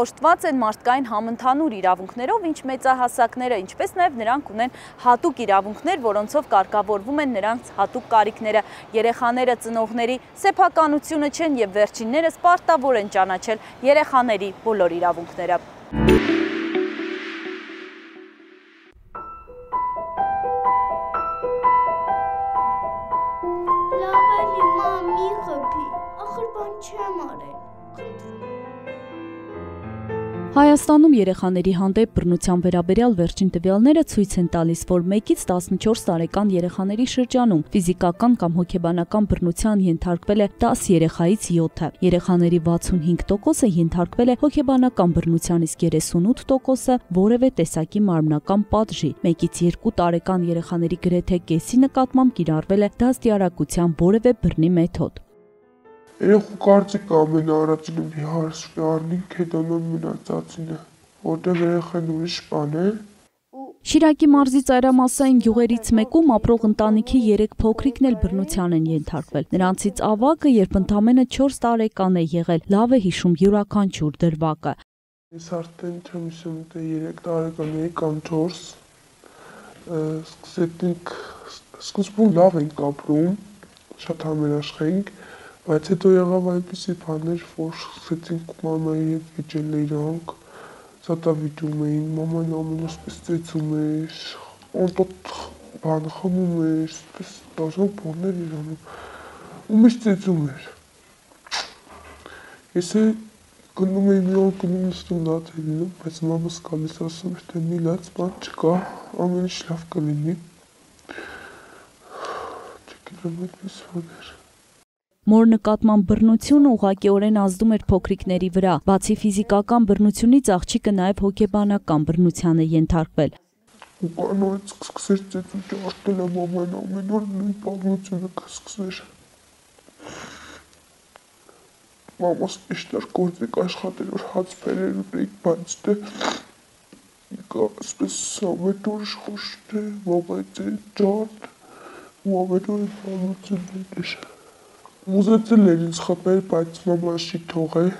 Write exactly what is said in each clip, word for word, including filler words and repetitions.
օժտված են մարդկային համընդհանուր իրավունքներով, ինչ մեծահասակները, ինչպես նաև նրանք ունեն հատուկ իրավունքներ, որոնցով կարգավորվում են նրանց հատուկ կարիքները։ Երեխաները ծնողների սեփականությունը չեն եւ վերջիններս պարտավոր են ճանաչել երեխաների բոլոր իրավունքները։ Հայաստանում երեխաների հանդեպ բռնության վերաբերյալ վերջին տվյալները ցույց են տալիս, որ մեկից տասնչորս տարեկան երեխաների շրջանում ֆիզիկական կամ հոգեբանական բռնության ենթարկվել է դաս երեխայից յոթը։ Երեխաների վաթսունհինգ տոկոսը ենթարկվել է հոգեբանական բռնության, իսկ երեսունութ տոկոսը որևէ տեսակի մարմնական պատժի։ Մեկից երկու տարեկան երեխաների գրեթե կեսի նկատմամբ կիրառվել է դաստիարակության որևէ բռնի մեթոդ։ Երեխու կարծիք ամենաառաջինը մի հարցի առնենք հետոնոն մնացածինը, որտեղ երեխան ուրիշ բան է։ Շիրակի մարզի ծայրամասային գյուղերից մեկում ապրող ընտանիքի երեք փոքրիկն էլ բռնության են ենթարկվել։ Նրանցից ավագը, երբ ընդամենը չորս տարեկան է եղել, լավ է հիշում յուրաքանչյուր դրվագը։ Ես արդեն չեմ հիշում, թե երեք տարեկան էի կամ չորս, սկսեցինք, սկզբում լավ ենք ապրում, շատ համերաշխ էինք, բայց հետո եղավ այնպիսի բաներ, որ սկսեցինք մամայի հետ վիճել իրանք, սատավիճում էին, մաման ամենասպես ծեծում էր, անտոտ բան խմում էր, սպես դաժան բաներ իրանում, ու միշտ ծեծում էր։ Ես է գնում էի մի օր գնում նստում լաց է լինում, բայց մամաս գալիս ասում էր, թե մի լաց բան չկա, ամեն ինչ լավ կլինի։ Չգիտեմ այդպես բաներ։ Մոր նկատմամբ բռնությունը ուղղակիորեն ազդում էր փոքրիկների վրա, բացի ֆիզիկական բռնությունից աղջիկը նաև հոգեբանական բռնության է ենթարկվել։ Ու կանոց սկսեր ծեծու ջարդել եմ ամեն ամեն օր նույն պատմությունը կսկսեր։ Մամաս իշտար գործեք աշխատել, որ հաց բերեր ունեիք, բայց դե իկա ասպես ամեն օր իշխոշ թե մամայի ջարդ, ու ամեն օր պատմություններ էր։ Ուզեցել էր ինձ խփել, բայց մաման չի թողել։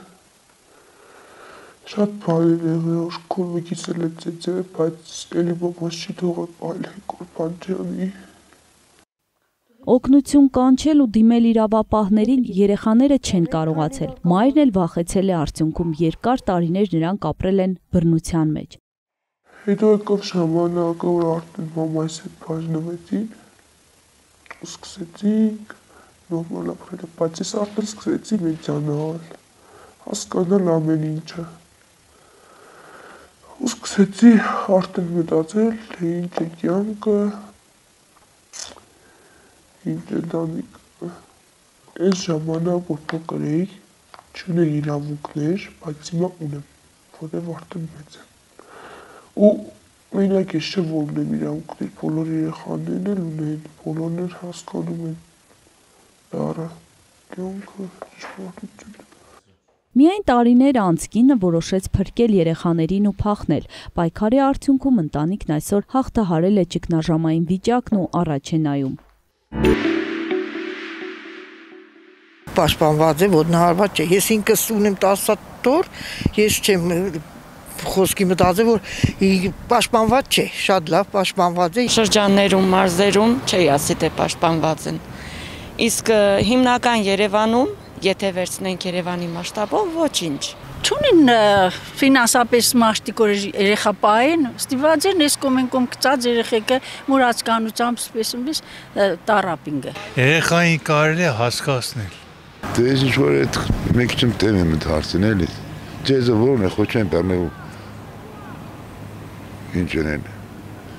Շատ բաներ եղել, որ քորմիկից էլ է ծեծել, բայց էլի մաման չի թողել այլ հեկոր բան չանի։ Օգնություն կանչել ու դիմել իրավապահներին երեխաները չեն կարողացել։ Մայրն էլ վախեցել է արդյունքում երկար տարիներ նրանք ապրել են բռնության մեջ։ Հետո եկավ ժամանակը, որ արդեն մամայիս հետ բաժնվեցին, ու սկսեցինք նորմալ ապրել, բայց ես արդեն սկսեցի մեծանալ, հասկանալ ամեն ինչը։ Ու սկսեցի արդեն մտածել, թե ինչ է կյանքը, ինչ է տանիքը։ Այս ժամանակ, որ փոքր էի, չուներ իրավունքներ, բայց հիմա ունեմ, որտեղ արդեն մեծ եմ։ Ու մենակ ես չէ, որ ունեմ իրավունքներ, բոլոր երեխաներն էլ ունեն, բոլորն էլ հասկանում են։ Դարը, կյանքը, ճշմարտությունը։ Միայն տարիներ անց կինը որոշեց փրկել երեխաներին ու փախնել։ Պայքարի արդյունքում ընտանիքն այսօր հաղթահարել է ճգնաժամային վիճակն ու առաջ է նայում։ Պաշտպանված է, ոտնահարված չէ։ Ես ինքս ունեմ տասը տոր, ես չեմ խոսքի մտածել, որ պաշտպանված չէ, շատ լավ պաշտպանված է։ Շրջաններում, մարզերում չի ասի, թե պաշտպանված են։ Իսկ հիմնական Երևանում, եթե վերցնենք Երևանի մասշտաբով, ոչինչ։ Չունին ֆինանսապես մաշտիկոր երեխա պահեն, ստիված են ես կոմ են կոմ կծած երեխեքը մուրացկանությամբ սպեսումից տարապինգը։ Երեխային կարելի է հասկացնել։ Դե ես ինչ-որ այդ մեկ չեմ տեմ եմ ընդ հարցին էլի, ձեզը որն է, խոչ են պերնե ու ինչ են էլ։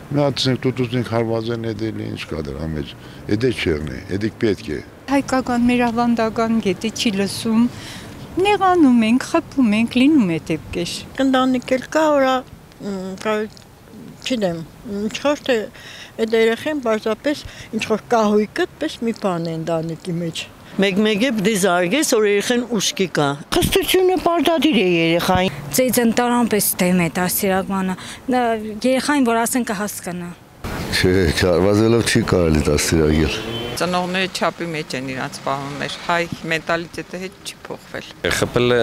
Մի հատսենք տուտուսնենք հարված են էդել, ինչ կա դր ամեջ, էդ է չեղն է, էդիկ պետք է։ Հայկական մեր ավանդական գետի չի լսում, նեղանում ենք, խփում ենք, լինում է դեպքեր։ Ընտանիք էլ կա, որ չգիտեմ, ինչ-որ թե այդ երեխեն պարզապես ինչ-որ կահույքը պես մի բան է ընտանիքի մեջ։ Մեկ-մեկ է պիտի զարգես, որ երեխան ուշքի կա։ Խստությունը պարտադիր է երեխային։ Ծեծընտարան պես դեմ է դաստիարակմանը, երեխային, որ ասեն կհասկանա։ Չէ, չարվազելով չի կարելի դաստիարակել։ Ծնողները չափի մեջ են իրանց պահում, մեր հայ մենտալիտետը հետ չի փոխվել։ Խփել է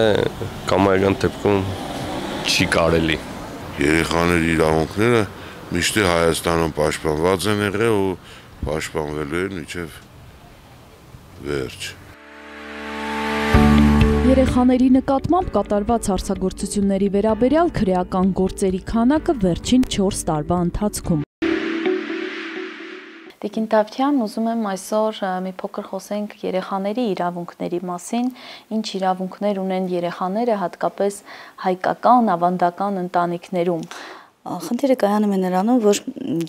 կամայական դեպքում չի կարելի։ Երեխաների իրավունքները միշտ Հայաստանում պաշտպանված են եղել ու պաշտպանվելու են մինչև վերջ։ Երեխաների նկատմամբ կատարված հարցագործությունների վերաբերյալ քրեական գործերի քանակը վերջին չորս տարվա ընթացքում։ Տիկին Դավթյան, ուզում եմ այսօր մի փոքր խոսենք երեխաների իրավունքների մասին, ինչ իրավունքներ ունեն երեխաները, հատկապես հայկական, ավանդական ընտանիքներում։ Խնդիրը կայանում է նրանում, որ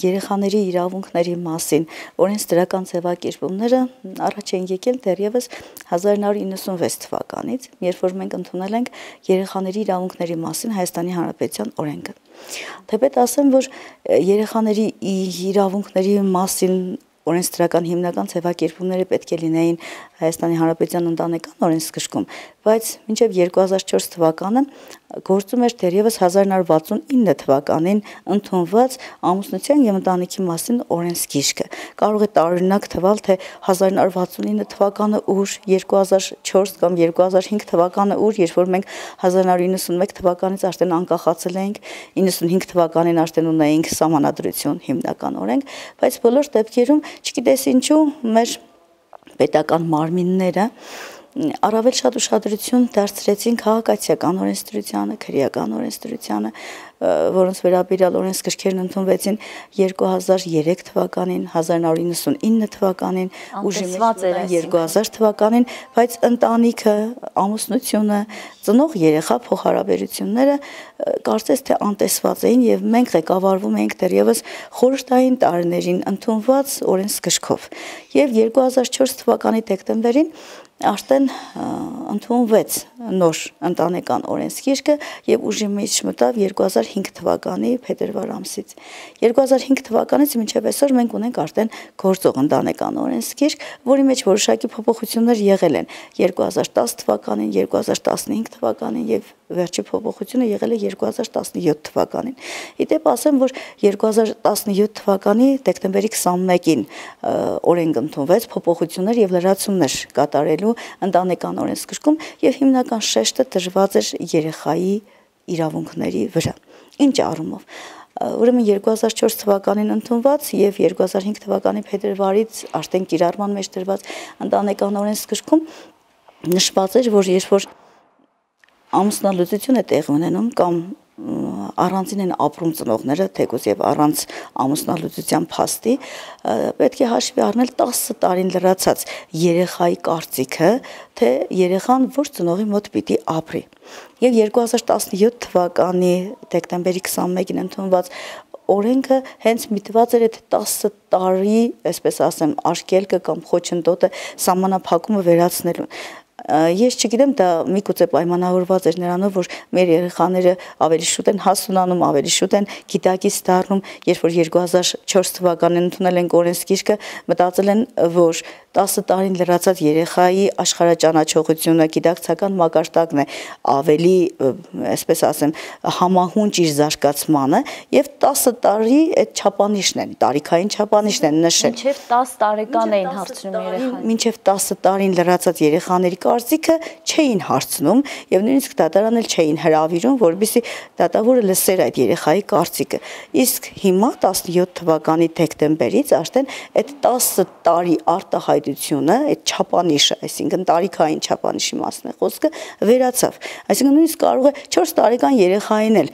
երեխաների իրավունքների մասին օրենսդրական ձևակերպումները առաջ են եկել դեռևս հազար նոր իննսունվեց թվականից, երբ որ մենք ընդունել ենք երեխաների իրավունքների մասին Հայաստանի Հանրապետության օրենքը։ Թեպետ ասեմ, որ երեխաների իրավունքների մասին օրենսդրական հիմնական ձևակերպումները պետք է լինեին Հայաստանի Հանրապետության ընտանեկան օրենսգրքում, բայց մինչև երկու հազար չորս թվականը գործում էր դեռևս հազար նոր վաթսունինը թվականին ընդունված ամուսնության եւ ընտանիքի մասին օրենսգիրքը։ Կարող է տարօրինակ թվալ, թե հազար նոր վաթսունինը թվականը ուր, երկու հազար չորս կամ երկու հազար հինգ թվականը ուր, երբ որ մենք հազար նոր իննսունմեկ թվականից արդեն անկախացել էինք, իննսունհինգ թվականին արդեն ունեինք սահմանադրություն, հիմնական օրենք, բայց բոլոր դեպքերում չգիտես ինչու մեր պետական մարմինները առավել շատ ուշադրություն դարձրեցին քաղաքացիական օրենսդրությանը, քրեական օրենսդրությանը, որոնց վերաբերյալ օրենսգրքերն ընդունվեցին երկու հազար երեք թվականին, հազար նոր իննսունինը թվականին, ուժի մեջ երկու հազար թվականին, բայց ընտանիքը, ամուսնությունը, ծնող երեխա փոխհարաբերությունները կարծես թե անտեսված էին եւ մենք ղեկավարվում էինք դեռևս խորհրդային տարիներին ընդունված օրենսգրքով։ Եվ երկու հազար չորս թվականի դեկտեմբերին արդեն ընդունվեց նոր ընտանեկան օրենսգիրքը եւ ուժի մեջ մտավ երկու հազար հինգ թվականի փետրվար ամսից։ երկու հազար հինգ թվականից մինչև այսօր մենք ունենք արդեն գործող ընտանեկան օրենսգիրք, որի մեջ որոշակի փոփոխություններ եղել են երկու հազար տաս թվականին, երկու հազար տասնհինգ թվականին եւ վերջի փոփոխությունը եղել է երկու հազար տասնյոթ թվականին։ Իդեպ ասեմ, որ երկու հազար տասնյոթ թվականի դեկտեմբերի քսանմեկին օրենք ընդունվեց փոփոխություններ եւ լրացումներ կատարելու ընտանեկան օրենսգրքում եւ հիմնական շեշտը դրված էր երեխայի իրավունքների վրա։ Ինչ առումով։ Ուրեմն երկու հազար չորս թվականին ընդունված եւ երկու հազար հինգ թվականի փետրվարից արդեն կիրառման մեջ դրված ընտանեկան օրենսգրքում նշված էր, որ երբ որ ամուսնալուծություն է տեղի ունենում կամ առանձին են ապրում ծնողները, թեկուզ եւ առանց ամուսնալուծության փաստի, պետք է հաշվի առնել տասը տարին լրացած երեխայի կարծիքը, թե երեխան որ ծնողի մոտ պիտի ապրի։ Եվ երկու հազար տասնյոթ թվականի դեկտեմբերի քսանմեկին ընդունված օրենքը հենց միտված էր այդ տասը տարի, այսպես ասեմ, արգելքը կամ խոչընդոտը սահմանափակումը վերացնելու։ Ես չգիտեմ, դա միգուցե պայմանավորված էր նրանով, որ մեր երեխաները ավելի շուտ են հասունանում, ավելի շուտ են գիտակից դառնում, երբ որ երկու հազար չորս թվականին ընդունել են օրենսգիրքը, մտածել են, որ տասը տարին լրացած երեխայի աշխարհաճանաչողությունը, գիտակցական մակարդակն է ավելի, այսպես ասեմ, համահունչ իր զարգացմանը եւ տասը տարի այդ չափանիշն են, տարիքային չափանիշն են նշել։ Մինչև տաս տարեկան էին հարցնում երեխային։ Մինչև տասը տարին լրացած երեխաների կարծիքը չէին հարցնում եւ նույնիսկ դատարան էլ չէին հրավիրում, որովհետեւ դատավորը լսեր այդ երեխայի կարծիքը։ Իսկ հիմա տասնյոթ թվականի դեկտեմբերից արդեն այդ տասը տարի արտահայտությունը, այդ չափանիշը, այսինքն տարիքային չափանիշի մասն է խոսքը, վերացավ։ Այսինքն նույնիսկ կարող է չորս տարեկան երեխային էլ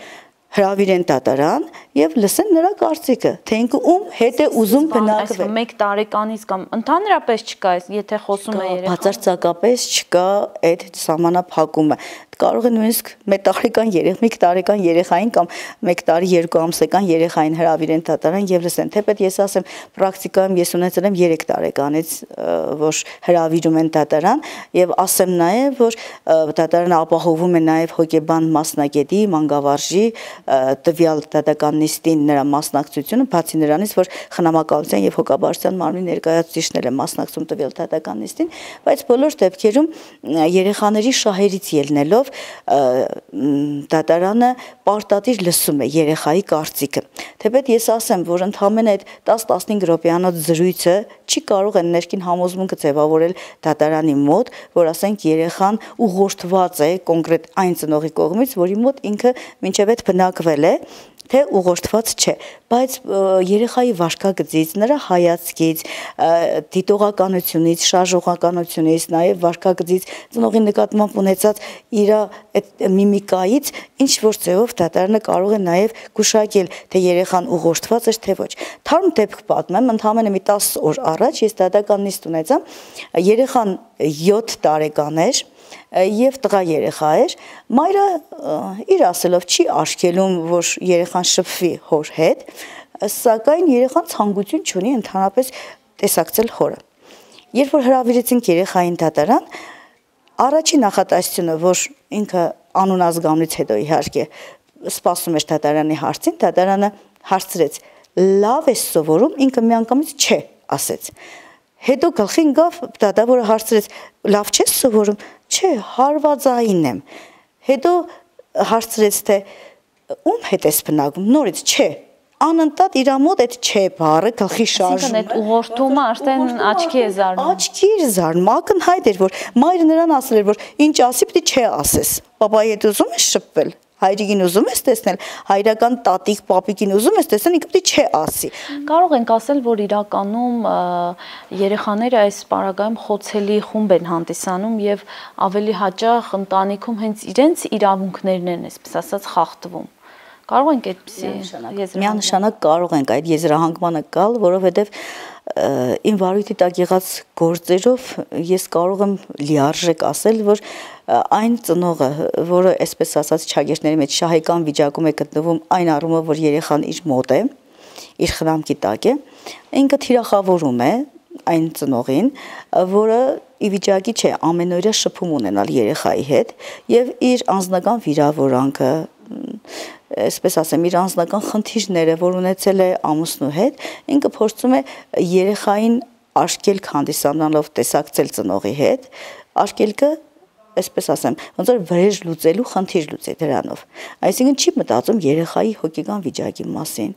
հրավիրեն դատարան եւ լսեն նրա կարծիքը, թե ինքը ում հետ է ուզում բնակվել։ Այսինքն մեկ տարեկանից կամ ընդհանրապես չկա, եթե խոսում է երեխան։ Բացարձակապես չկա այդ սահմանափակումը։ Կարող է նույնիսկ մեկ տարեկան երեխա, մեկ տարեկան երեխային կամ մեկ տարի երկու ամսական երեխային հրավիրեն դատարան եւ լսեն։ Թեպետ ես ասեմ, պրակտիկայում ես ունեցել եմ երեք տարեկանից, որ հրավիրում են դատարան եւ ասեմ նաեւ, որ դատարանը ապահովում է նաեւ հոգեբան մասնագետի, մանկավարժի տվյալ դատական նիստին նրա մասնակցությունը, բացի նրանից, որ խնամակալության եւ հոգաբարձության մարմնի ներկայացուցիչներ են մասնակցում տվյալ դատական նիստին, բայց բոլոր դեպքերում երեխաների շահերից ելնելով դատարանը պարտադիր լսում է երեխայի կարծիքը։ Թեպետ ես ասեմ, որ ընդհանրապես այդ տասը-տասնհինգ րոպեանոց զրույցը չի կարող են ներքին համոզմունքը ձևավորել դատարանի մոտ, որ ասենք երեխան ուղղորդված է կոնկրետ այն ծնողի կողմից, որի մոտ ինքը մինչև այդ բնակվել է, թե ուղղորդված չէ, բայց երեխայի վարքագծից, նրա հայացքից, դիտողականությունից, շարժողականությունից, նաև վարքագծից, ծնողի նկատմամբ ունեցած իր այդ միմիկայից ինչ որ ձևով դատարանը կարող է նաև գուշակել, թե երեխան ուղղորդված էր, թե ոչ։ Թարմ դեպք պատմեմ, ընդամենը մի տասը օր առաջ ես դատական նիստ ունեցա, երեխան յոթ տարեկան էր, եւ տղա երեխա էր, մայրը իր ասելով չի աշկելում, որ երեխան շփվի հոր հետ, սակայն երեխան ցանկություն չունի ընդհանրապես տեսակցել հորը։ Երբ որ հրավիրեցինք երեխային դատարան, առաջին նախատեսությունը, որ ինքը անուն ազգանունից հետո իհարկե սպասում էր դատարանի հարցին, դատարանը հարցրեց. լավ է սովորում, ինքը միանգամից չէ ասեց։ Հետո գլխին գավ դատավորը հարցրեց. լավ չես սովորում, չէ, հարվածային եմ։ Հետո հարցրեց, թե ում հետ ես բնակվում, նորից չէ, անընդհատ իր մոտ այդ չէ բառը գլխի շարժում է։ Այսինքն այդ ուղղորդումը արդեն աչքի է զարնում։ Աչքի էր զարնում, ակնհայտ էր, որ մայրը նրան ասել էր, որ ինչ ասի, պիտի չէ ասես։ Պապայի հետ ուզում ես շփվել, հայրիկին ուզում ես տեսնել, հայրական տատիկ, պապիկին ուզում ես տեսնել, ինքը պիտի չէ ասի։ Կարող ենք ասել, որ իրականում երեխաները այս պարագայում խոցելի խումբ են հանդիսանում եւ ավելի հաճախ ընտանիքում հենց իրենց իրավունքներն են, այսպես ասած, խախտվում։ Կարող ենք այդպեսի միանշանակ կարող ենք այդ եզրահանգմանը գալ, որովհետեւ իմ վարույթի տակ եղած գործերով ես կարող եմ լիարժեք ասել, որ այն ծնողը, որը այսպես ասած չագերտների մեջ շահեկան վիճակում է գտնվում այն առումով, որ երեխան իր մոտ է, իր խնամքի տակ է, ինքը թիրախավորում է այն ծնողին, որը ի վիճակի չէ ամենօրյա շփում ունենալ երեխայի հետ եւ իր անձնական վիրավորանքը, այսպես ասեմ, իր անձնական խնդիրները, որ ունեցել է ամուսնու հետ, ինքը փորձում է երեխային աշկելք հանդիսանալով տեսակցել ծնողի հետ, աշկելքը այսպես ասեմ, ոնց որ վրեժ լուծելու խնդիր լուծի դրանով։ Այսինքն չի մտածում երեխայի հոգեկան վիճակի մասին,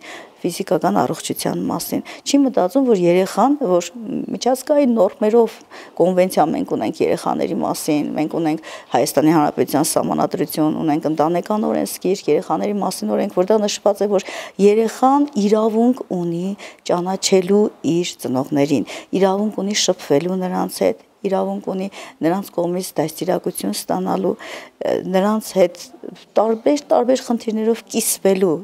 ֆիզիկական առողջության մասին, չի մտածում, որ երեխան, որ միջազգային նորմերով կոնվենցիա մենք ունենք երեխաների մասին, մենք ունենք Հայաստանի Հանրապետության Սահմանադրություն, ունենք ընտանեկան օրենսգիր, երեխաների մասին օրենք, որտեղ նշված է, որ երեխան իրավունք ունի ճանաչելու իր ծնողներին, իրավունք ունի շփվելու նրանց հետ, իրավունք ունի նրանց կողմից դաստիարակություն ստանալու, նրանց հետ տարբեր տարբեր խնդիրներով կիսվելու,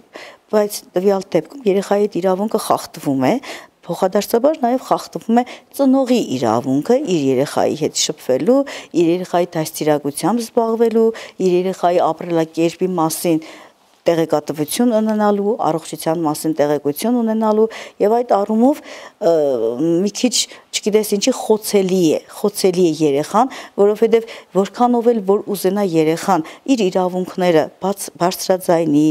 բայց տվյալ դեպքում երեխայի հետ իրավունքը խախտվում է, փոխադարձաբար նաև խախտվում է ծնողի իրավունքը իր երեխայի հետ շփվելու, իր երեխայի դաստիարակությամբ զբաղվելու, իր երեխայի ապրելակերպի մասին տեղեկատվություն ունենալու, առողջության մասին տեղեկություն ունենալու եւ այդ առումով մի քիչ, չգիտես ինչի խոցելի է, խոցելի է երեխան, որովհետեւ որքանով էլ որ ուզենա երեխան իր իրավունքները բաց բարձրաձայնի,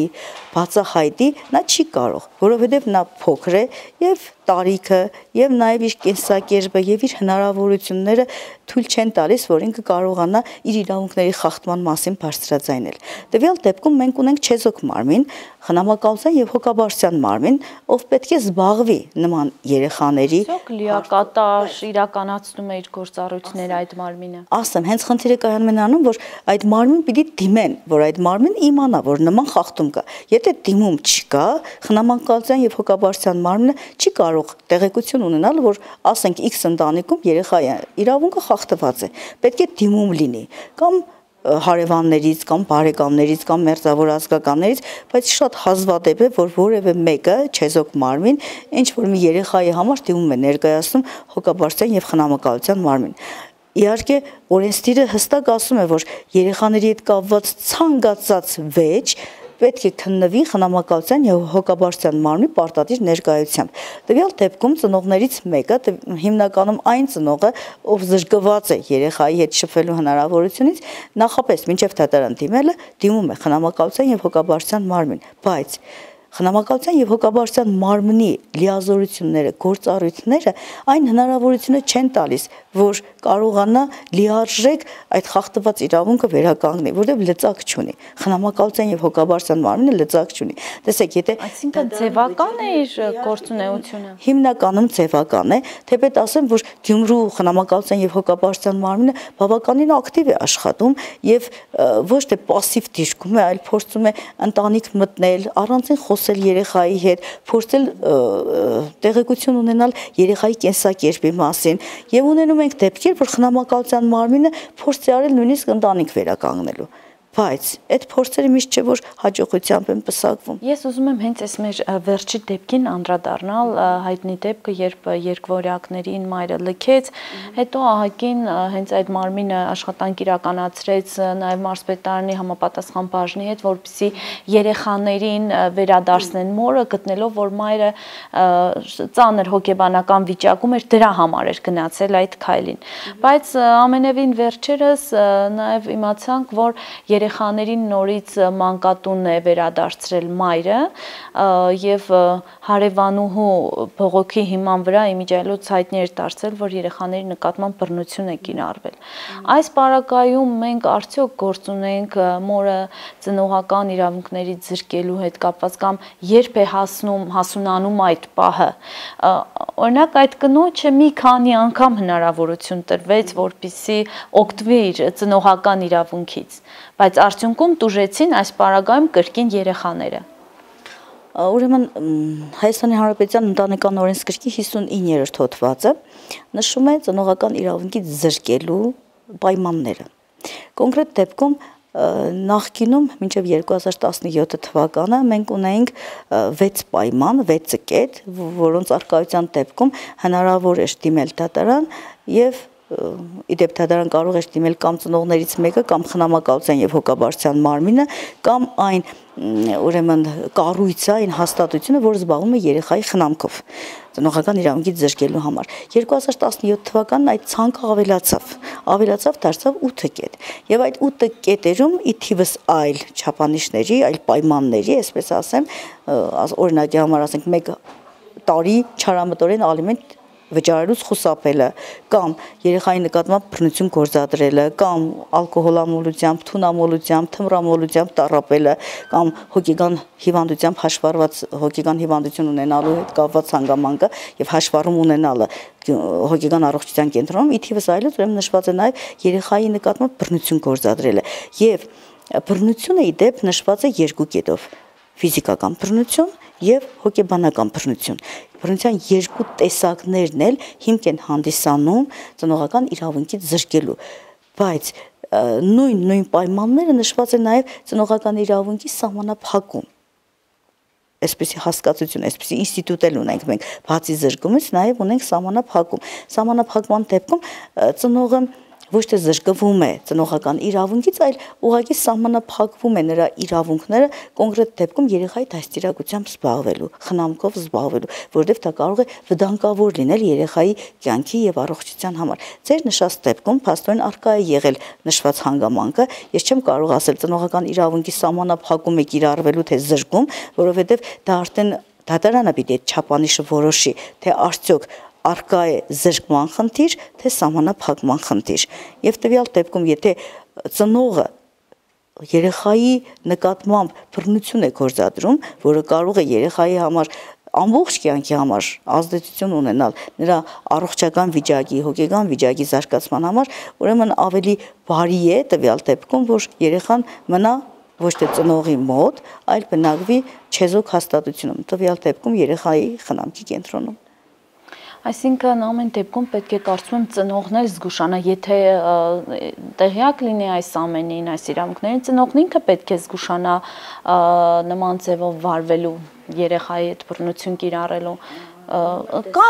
բացահայտի, նա չի կարող, որովհետեւ նա փոքր է եւ տարիքը եւ նաեւ իր կենսակերպը եւ իր հնարավորությունները թույլ չեն տալիս, որ ինքը կարողանա իր իրավունքների խախտման մասին բարձրաձայնել։ Տվյալ դեպքում մենք ունենք չեզոք մարմին, խնամակալության եւ հոգաբարձության մարմին, ով պետք է զբաղվի նման երեխաների լիակատար իրականացնում է իր գործառույթները այդ մարմինը։ Ասեմ, հենց խնդիրը կայանում է նրանում, որ այդ մարմին պիտի դիմեն, որ այդ մարմին իմանա, որ նման խախտում կա։ Եթե դիմում չկա, խնամակալության եւ հոգաբարձության մարմինը չի կարող տեղեկություն ունենալ, որ ասենք X ընտանիքում երեխայի իրավունքը խախտված է։ Պետք է դիմում լինի կամ հարևաններից կամ բարեկամներից կամ մերձավոր ազգականներից, բայց շատ հազվադեպ է, որ որևէ մեկը չեզոք մարմին ինչ որ մի երեխայի համար դիմում է ներկայացնում հոգաբարձության եւ խնամակալության մարմին։ Իհարկե օրենսդիրը հստակ ասում է, որ երեխաների հետ կապված ցանկացած վեճ պետք է քննվի խնամակալության եւ հոգաբարձության մարմնի պարտադիր ներկայությամբ։ Տվյալ դեպքում ծնողներից մեկը, հիմնականում այն ծնողը, ով զրկված է երեխայի հետ շփվելու հնարավորությունից, նախապես մինչև դատարան դիմելը դիմում է խնամակալության եւ հոգաբարձության մարմին, բայց խնամակալության եւ հոգաբարձության մարմնի լիազորությունները, գործառույթները այն հնարավորությունը չեն տալիս, որ կարողանա լիարժեք այդ խախտված իրավունքը վերականգնի, որովհետեւ լծակ չունի։ Խնամակալության եւ հոգաբարձության մարմինը լծակ չունի։ Տեսեք, եթե այսինքն ձևական է իր գործունեությունը։ Հիմնականում ձևական է, թեպետ ասեմ, որ Գյումրու խնամակալության եւ հոգաբարձության մարմինը բավականին ակտիվ է աշխատում եւ ոչ թե пассив դիրքում է, այլ փորձում է ընտանիք մտնել, առանցին խոսել երեխայի հետ, փորձել տեղեկություն ունենալ երեխայի կենսակերպի մասին եւ ունենում ենք դեպքեր, որ խնամակալության մարմինը փորձ է արել նույնիսկ ընտանիք վերականգնելու։ Բայց այդ փորձերը միշտ չէ որ հաջողությամբ են պսակվում։ Ես ուզում եմ հենց այս մեր վերջի դեպքին անդրադառնալ, հայտնի դեպքը, երբ երկվորյակներին մայրը լքեց, հետո ահագին հենց այդ մարմինը աշխատանք իրականացրեց նաև մարզպետարանի համապատասխան բաժնի հետ, որպեսզի երեխաներին վերադարձնեն մորը, գտնելով որ մայրը ծանր հոգեբանական վիճակում էր, դրա համար էր գնացել այդ քայլին։ Բայց ամենևին վերջերս նաև իմացանք, որ երեխաներին նորից մանկատուն է վերադարձրել մայրը եւ հարևանուհու բողոքի հիման վրա իմիջիայլոց հայտնի էր դարձել, որ երեխաների նկատմամբ բռնություն է կիրառվել։ Այս պարագայում մենք արդյոք գործ ունենք մորը ծնողական իրավունքների զրկելու հետ կապված կամ երբ է հասնում հասունանում այդ պահը։ Օրինակ այդ կնոջը մի քանի անգամ հնարավորություն տրվեց, որպեսզի օգտվի իր ծնողական իրավունքից, բայց արդյունքում տուժեցին այս պարագայում կրկին երեխաները։ Ուրեմն Հայաստանի Հանրապետության ընտանեկան օրենսգրքի հիսունիններորդ հոդվածը նշում է ծնողական իրավունքից զրկելու պայմանները։ Կոնկրետ դեպքում նախկինում մինչև երկու հազար տասնյոթ թվականը մենք ունեինք վեց պայման, վեց կետ, որոնց արկայության դեպքում հնարավոր էր դիմել դատարան եւ իդեպ դատարան կարող է դիմել կամ ծնողներից մեկը կամ խնամակալության եւ հոգաբարձության մարմինը կամ այն ուրեմն կառույցը, այն հաստատությունը, որը զբաղվում է երեխայի խնամքով ծնողական իրավունքից զրկելու համար։ երկու հազար տասնյոթ թվականին այդ ցանկը ավելացավ, ավելացավ դարձավ ութ կետ։ Եվ այդ ութ կետերում ի թիվս այլ չափանիշների, այլ պայմանների, այսպես ասեմ, օրինակի համար ասենք մեկ տարի չարամտորեն ալիմենտ վճարելուց խուսափելը կամ երեխայի նկատմամբ բռնություն գործադրելը կամ ալկոհոլամոլությամբ, թունամոլությամբ, թմրամոլությամբ տառապելը կամ հոգեկան հիվանդությամբ հաշվառված հոգեկան հիվանդություն ունենալու հետ կապված հանգամանքը եւ հաշվառում ունենալը հոգեկան առողջության կենտրոնում ի թիվս այլոց ուրեմն նշված է նաեւ երեխայի նկատմամբ բռնություն գործադրելը եւ բռնությունը ի դեպ նշված է երկու կետով ֆիզիկական բռնություն եւ հոգեբանական բռնություն։ Բռնության երկու տեսակներն էլ հիմք են հանդիսանում ծնողական իրավունքից զրկելու, բայց նույն նույն պայմանները նշված է նաեւ ծնողական իրավունքի սահմանափակում։ Այսպեսի հասկացություն, այսպեսի ինստիտուտ էլ ունենք մենք, բացի զրկումից նաեւ ունենք սահմանափակում։ Սահմանափակման դեպքում ծնողը ոչ թե զրկվում է ծնողական իրավունքից, այլ ուղղակի սահմանափակվում է նրա իրավունքները կոնկրետ դեպքում երեխայի դաստիարակությամբ զբաղվելու, խնամքով զբաղվելու, որովհետև դա կարող է վտանգավոր լինել երեխայի կյանքի եւ առողջության համար։ Ձեր նշած դեպքում փաստորեն արկա է եղել նշված հանգամանքը, ես չեմ կարող ասել ծնողական իրավունքի սահմանափակում է կիրառվելու թե զրկում, որովհետև դա արդեն դատարանը պիտի այդ չափանիշը որոշի, թե արդյոք արկա է զրկման խնդիր, թե սահմանափակման խնդիր։ Եվ տվյալ դեպքում, եթե ծնողը երեխայի նկատմամբ բռնություն է գործադրում, որը կարող է երեխայի համար ամբողջ կյանքի համար ազդեցություն ունենալ նրա առողջական վիճակի, հոգեկան վիճակի զարգացման համար, ուրեմն ավելի բարի է տվյալ դեպքում, որ երեխան մնա ոչ թե ծնողի մոտ, այլ բնակվի չեզոք հաստատությունում, տվյալ դեպքում երեխայի խնամքի կենտրոնում։ Այսինքն ամեն դեպքում պետք է կարծում եմ ծնողն էլ զգուշանա, եթե տեղյակ լինի այս ամենին, այս իրավունքներին, ծնողն ինքը պետք է զգուշանա նման ձևով վարվելու, երեխայի հետ բռնություն կիրառելու, կա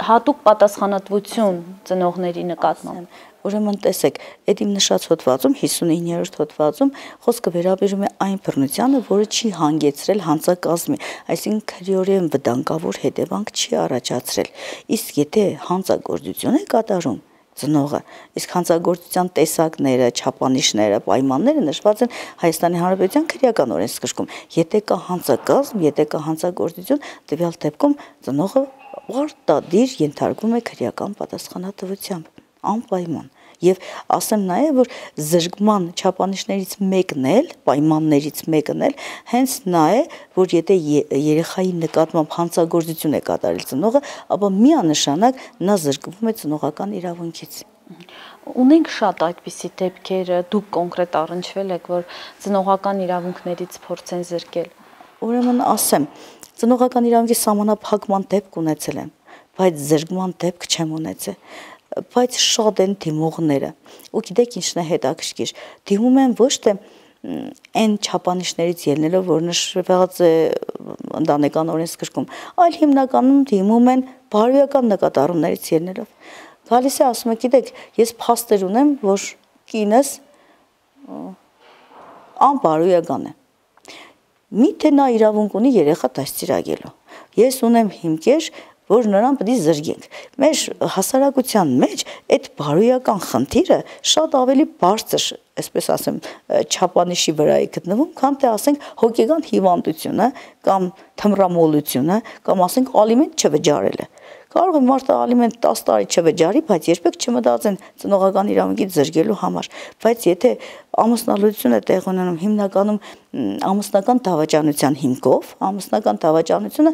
հատուկ պատասխանատվություն ծնողների նկատմամբ։ Ուրեմն տեսեք, այդ իմ նշած հոդվածում հիսունիններորդ հոդվածում խոսքը վերաբերում է այն բռնությանը, որը չի հանգեցրել հանցակազմի, այսինքն քրեորեն վտանգավոր հետևանք չի առաջացրել։ Իսկ եթե հանցագործություն է կատարում, ծնողը, իսկ հանցագործության տեսակները, չափանիշները, պայմանները նշված են Հայաստանի Հանրապետության քրեական օրենսգրքում։ Եթե կա հանցակազմ, եթե կա հանցագործություն, տվյալ դեպքում ծնողը պարտադիր ենթարկվում է քրեական պատասխանատվությամբ, անպայման։ Եվ ասեմ նաև, որ զրկման չափանիշներից մեկն էլ, պայմաններից մեկն էլ հենց նա է, որ եթե երեխայի նկատմամբ հանցագործություն է կատարել ծնողը, ապա միանշանակ նա զրկվում է ծնողական իրավունքից։ Ունենք շատ այդպիսի դեպքեր, դուք կոնկրետ առնչվել եք, որ ծնողական իրավունքներից փորձեն զրկել։ Ուրեմն ասեմ, ծնողական իրավունքի սահմանափակման դեպք ունեցել եմ, բայց զրկման դեպք չեմ ունեցել։ Բայց շատ են դիմողները, ու գիտեք ինչն է հետաքրքիր, դիմում են ոչ թե այն չափանիշներից ելնելով, որ նշված է ընտանեկան օրենսգրքում, այլ հիմնականում դիմում են բարոյական նկատառումներից ելնելով։ Գալիս է ասում է, գիտեք, ես փաստեր ունեմ, որ կինս անբարոյական է։ Միթե նա իրավունք ունի երեխա դաստիարակելու։ Ես ունեմ հիմքեր, որ նրան պետք է զրկենք։ Մեր հասարակության մեջ այդ բարոյական խնդիրը շատ ավելի բարձր, այսպես ասեմ, չափանիշի վրա է գտնվում, քան թե ասենք հոգեկան հիվանդությունը կամ թմրամոլությունը կամ ասենք ալիմենտ չվճարելը։ Կարող է մարդը ալիմենտ տասը տարի չվճարի, բայց երբեք չմտածեն ծնողական իրավունքից զրկելու համար։ Բայց եթե ամուսնալուծություն է տեղ ունենում հիմնականում ամուսնական դավաճանության հիմքով, ամուսնական դավաճանությունը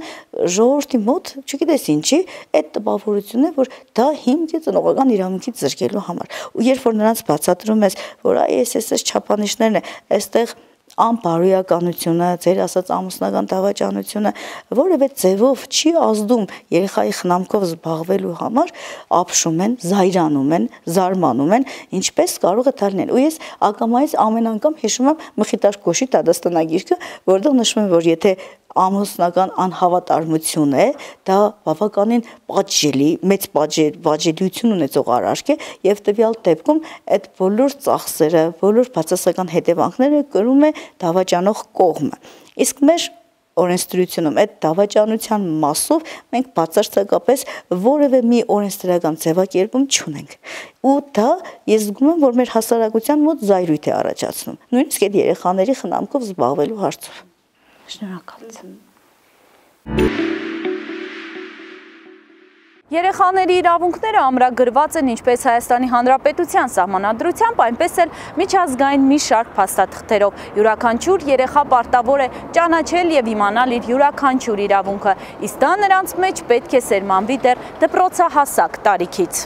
ժողովրդի մոտ, չգիտես ինչի, այդ տպավորությունն է, որ դա հիմք է ծնողական իրավունքից զրկելու համար։ Ու երբ որ նրանց բացատրում ես, որ այ էս էս չափանիշներն է, այստեղ անբարոյականությունը, ձեր ասած ամուսնական դավաճանությունը որևէ ձևով չի ազդում երեխայի խնամքով զբաղվելու համար, ապշում են, զայրանում են, զարմանում են, ինչպես կարող է դա լինել։ Ու ես ակամայից ամեն անգամ հիշում եմ Մխիթար Կոշի դատաստանագիրքը, որտեղ նշվում է, որ եթե ամուսնական անհավատարմություն է, դա բավականին պատժելի, մեծ պատժելիություն ունեցող արարք է եւ տվյալ դեպքում այդ բոլոր ծախսերը, բոլոր բացասական հետևանքները կրում է դավաճանող կողմը։ Իսկ մեր օրենսդրությունում այդ դավաճանության մասով մենք բացարձակապես որևէ մի օրենսդրական ձևակերպում չունենք։ Ու դա ես զգում եմ, որ մեր հասարակության մոտ զայրույթ է առաջացնում։ Նույնիսկ այդ երեխաների խնամքով զբաղվելու հարցով։ Շնորհակալություն։ Երեխաների իրավունքները ամրագրված են ինչպես Հայաստանի Հանրապետության սահմանադրությամբ, այնպես էլ միջազգային մի շարք փաստաթղթերով։ Յուրաքանչյուր երեխա պարտավոր է ճանաչել եւ իմանալ իր յուրաքանչյուր իրավունքը, իսկ դա նրանց մեջ պետք է սերմանվի դեռ դպրոցահասակ տարիքից։